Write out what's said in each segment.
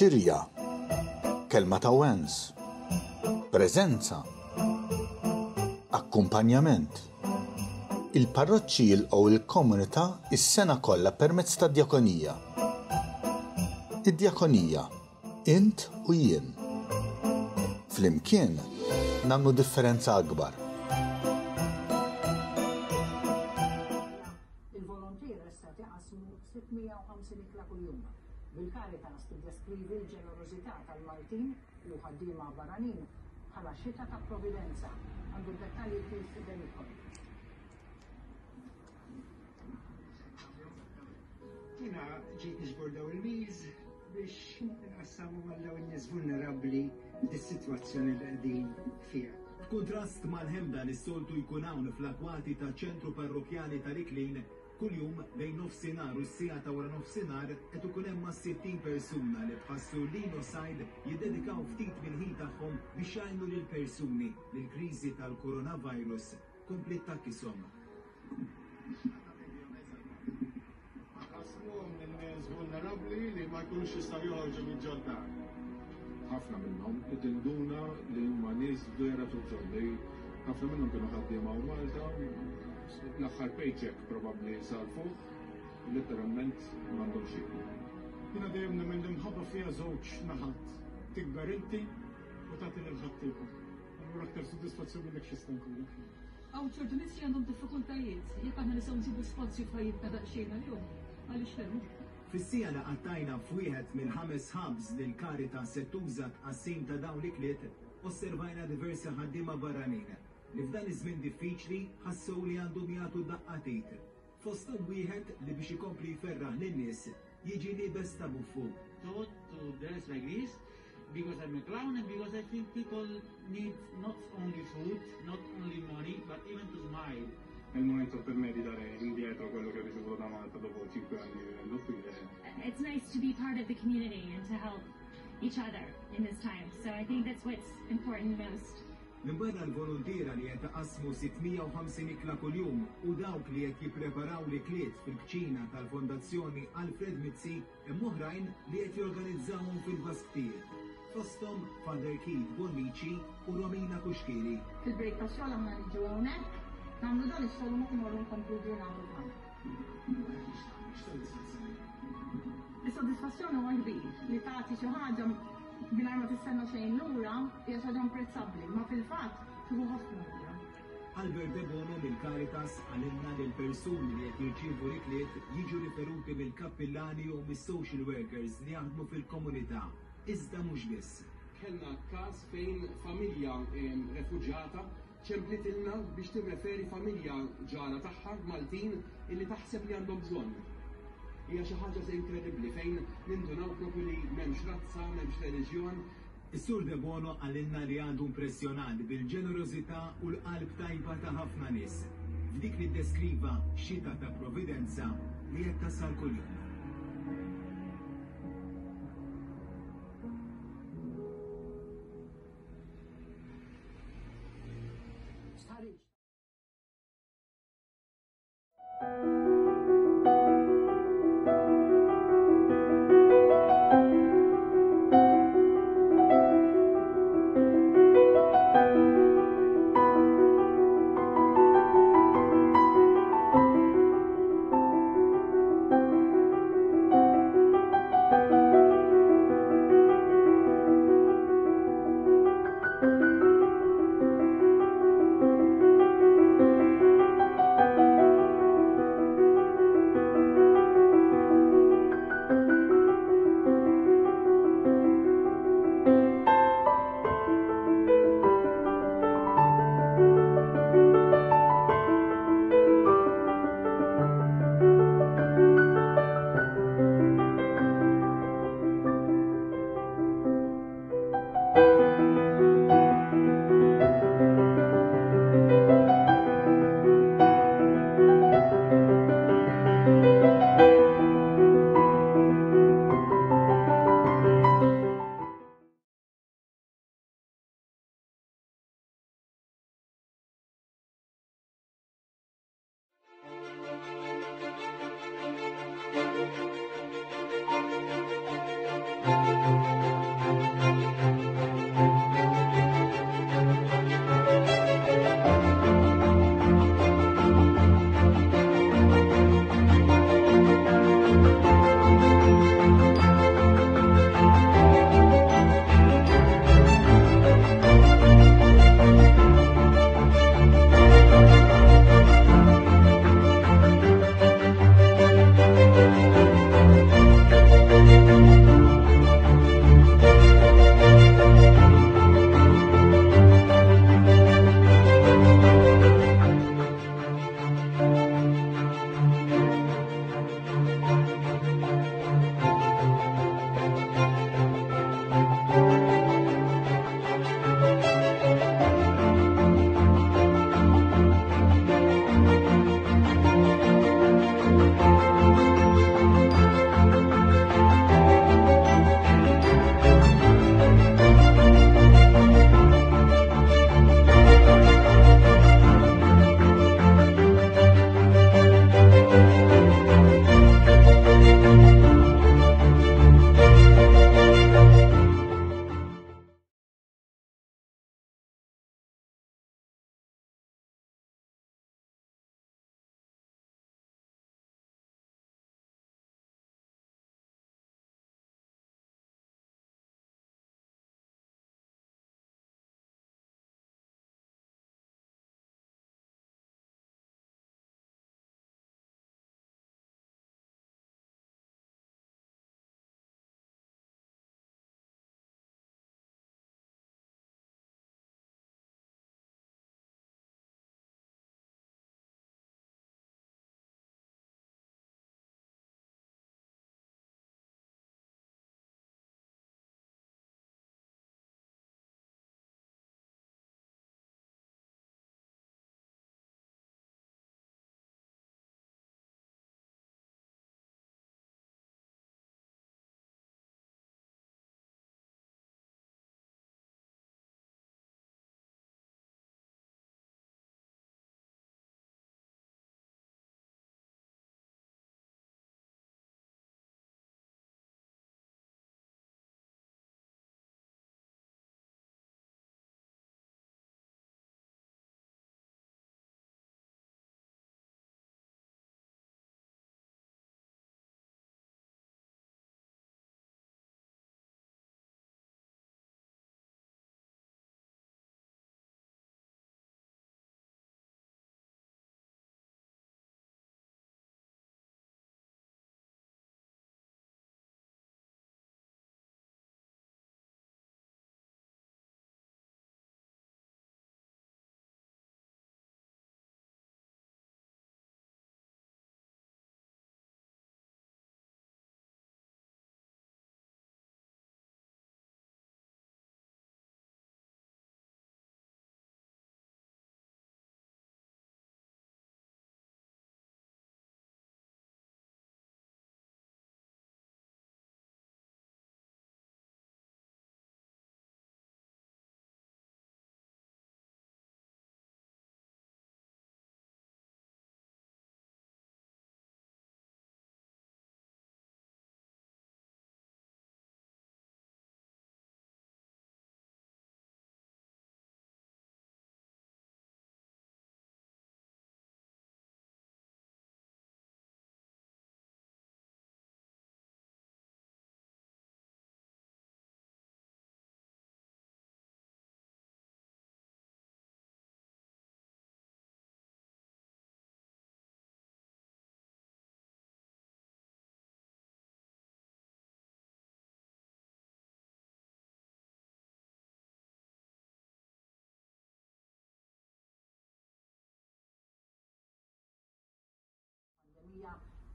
Xirja, kelma ta' wens, preżenza, akkumpanjament. Il-parroċċi jilqgħu l-komunità s-sena kollha permezz tad-djakonija. Id-djakonija, int u jien. Flimkien nagħmlu differenza akbar. Il-volontiera issa qed iqassmu 650 ikla kuljum, bil-Caritas tiddeskrivi l-ġenerożità tal-Maltin u ħaddiema barranin bħala xita ta' providenza. Għandu d-dettalji Keith Demicoli. Jiena ġejt niġbor daw il-meals biex nqassamu għal daw in-nies vulnerabbli dis-sitwazzjoni li qegħdin fiha. F'kuntrast mal-ħemda li s-soltu jkun hawn fl-akwati taċ-ċentru parrokkjali tal-Iklin, kuljum bejn nofsinhar u s-siegħa ta' waranofsinhar qed ikun hemm mas-60 persuna li bħas-Sur Lino Said jiddedikaw ftit mill-ħin tagħhom biex jgħinu lil persuni li l-kriżi tal-coronavirus kompliet tgħakkishom. Nqassmuhom lil nies vulnerabbli li ma jkunux jistgħu joħorġu minn ġod-dar. Ħafna minnhom tinduna li huma nies vera fil-bżonn li ħafna minnhom kienu ħaddiema hawn Malta, l-aħħar paycheck probabbli sarfuh, letteralment m'għandhomx x'jieklu. Jiena dejjem nemmen li mħabba fiha żewġ naħat, tikber inti u tagħti lil ħaddieħor. Allura aktar sodisfazzjon minn hekk x'jista' jkollok. Hawn ċertu nies li għandhom diffikultajiet, jekk aħna nistgħu nsibu spazju f'ħajjitna daqsxejn għalihom, għaliex le? Fis-siegħa li qattajna f'wieħed mill-ħames hubs li l-Caritas se tuża għat-tqassim ta' dawn l-ikliet, osservajna diversi ħaddiema barranin li f'dan iż-żmien diffiċli ħassew li għandhom jagħtu daqqa t'id. Fosthom wieħed li biex ikompli jferraħ lin-nies jiġi liebes ta' buffu. Taught to dress like this because I'm a clown and because I think people need not only food, not only money, but even to smile. È il momento per me di dare indietro quello che ho ricevuto da Malta dopo 5 anni vivendo qui. It's nice to be part of the community and to help each other in this time. So I think that's what's important most. Minbarra l-voluntiera li qed iqassmu 650 ikla kuljum u dawk li qed jippreparaw l-ikliet fil-kċina tal-Fondazzjoni Alfred Mizzi, hemm oħrajn li qed jorganizzawhom fil-basktijiet, fosthom Father Keith Bonnici u Romina Cuschieri. Fil-break tax-xogħol aħna niġu hawnhekk, nagħmlu dan ix-xogħol u mbagħad imorru nkomplu l-ġurnata tagħna. Is-sodisfazzjon huwa kbir li tagħti xi ħaġa mingħajr ma tistenna xejn lura hija xi ħaġa imprezzabbli, ma fil-fatt tieħu ħafna lura. Albert Debono mill-Caritas qalilna li l-persuni li qed jirċievu l-ikliet jiġu riferuti mill-kappillani jew mis-social workers li jaħdmu fil-komunità, iżda mhux biss. Kellna każ fejn familja refuġjata ċemplitilna biex tirreferi familja ġara tagħha Maltin illi taħseb li għandhom bżonn. Hija xi ħaġa inkredibbli fejn nindunaw propju li m'hemmx razza, m'hemmx reliġjon. Is-Sur Debono qalilna li għadu impressjonat bil-ġenerożità u l-qalb tajba ta' ħafna nies, f'dik li ddeskriva xita ta' providenza li qed tasal kuljum.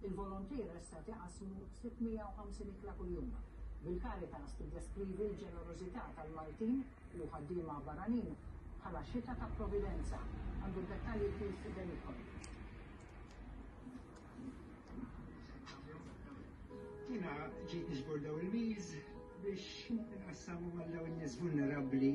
Il-volontiera issa qed iqassmu 650 ikla kuljum. Bil-Caritas tiddeskrivi l-ġenerożità tal-Maltin u ħaddiema barranin bħala xita ta' providenza. Għandu d-dettalji Keith Demicoli. Jiena ġejt niġbor daw il-meals biex nqassamhom għal dawn in-nies vulnerabbli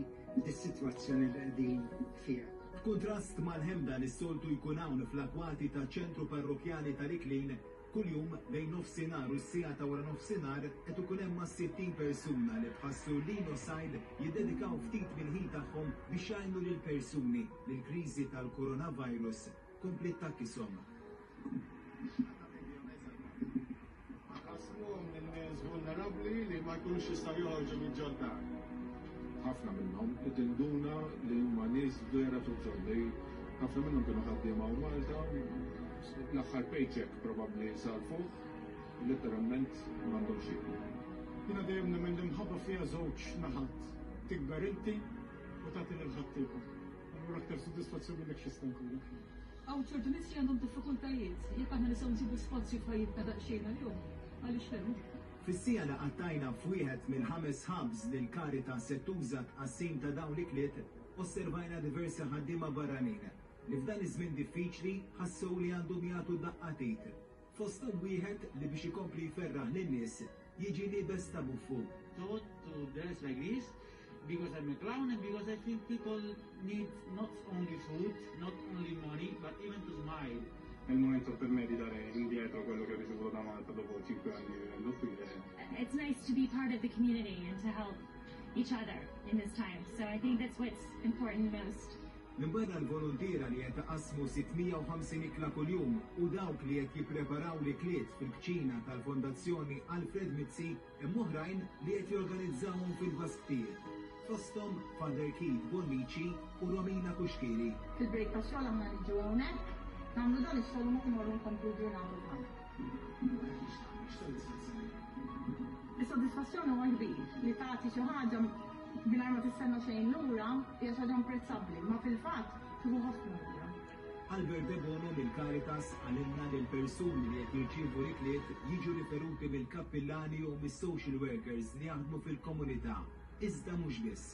dis-sitwazzjoni li qegħdin fiha. F'kuntrast mal-ħemda li s-soltu jkun hawn fl-akwati taċ-Ċentru Parrokkjali tal-Iklin, kuljum bejn nofsinhar u s-siegħa ta' waranofsinhar qed ikun hemm mas-60 persuna li bħas-Sur Lino Said jiddedikaw ftit mill-ħin tagħhom biex jgħinu lil persuni li l-kriżi tal-coronavirus kompliet tgħakkishom. Nqassmuhom lil nies vulnerabbli li ma jkunux jistgħu joħorġu minn ġod-dar. Ħafna minnhom li tinduna li huma nies vera fil-bżonn li ħafna minnhom kienu ħaddiema hawn Malta, l-aħħar paycheck probabbli sarfuh, letteralment m'għandhom x'jieklu. Jiena dejjem nemmen li l-imħabba fiha żewġ naħat, tikber inti u tagħti lil ħaddieħor. Allura aktar sodisfazzjon minn hekk x'jista' jkollok. Hawn ċertu nies li għandhom diffikultajiet, jekk aħna nistgħu nsibu spazju f'ħajjitna daqsxejn għalihom, għaliex le? Fis-siegħa li qattajna f'wieħed mill-ħames hubs li l-Caritas se tuża għat-tqassim ta' dawn l-ikliet, osservajna diversi ħaddiema barranin li f'dan iż-żmien diffiċli ħassew li għandhom jagħtu daqqa t'id. Fosthom wieħed li biex ikompli jferraħ lin-nies jiġi liebes ta' buffu. Thought to dress like this because I'm a clown and because I think people need not only food, not only money, but even to smile. È il momento per me di dare indietro quello che ho ricevuto da Malta dopo 5 anni vivendo qui. It's nice to be part of the community and to help each other in this time. So I think that's what's important most. Minbarra l-voluntiera li qed iqassmu 650 ikla kuljum u dawk li qed jippreparaw l-ikliet fil-kċina tal-Fondazzjoni Alfred Mizzi, hemm oħrajn li qed jorganizzawhom fil-basktijiet, fosthom Father Keith Bonnici u Romina Cuschieri. Fil-break tax-xogħol aħna niġu hawnhekk, nagħmlu dan ix-xogħol u mbagħad imorru nkomplu l-ġurnata tagħna. Is-sodisfazzjon huwa kbir li tagħti xi ħaġa mingħajr ma tistenna xejn lura hija xi ħaġa imprezzabbli, ma fil-fatt tieħu ħafna lura. Albert Debono mill-Caritas qalilna li l-persuni li qed jirċievu l-ikliet jiġu riferuti mill-kappillani jew mis-social workers li jaħdmu fil-komunità, iżda mhux biss.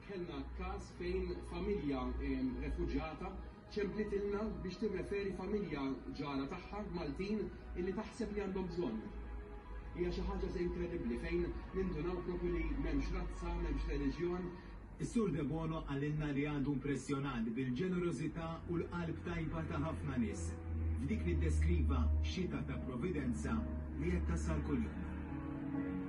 Kellna każ fejn familja refuġjata Ċemplitilna biex tirreferi familja ġara tagħha, Maltin, illi taħseb li għandhom bżonn. Hija xi ħaġa inkredibbli fejn nindunaw proprju li m'hemmx razza, m'hemmx reliġjon. Is-Sur Debono qalilna li għadu impressjonat bil-ġenerożità u l-qalb tajba ta' ħafna nies, f'dik li ddeskriva xita ta' providenza li qed tasal kuljum.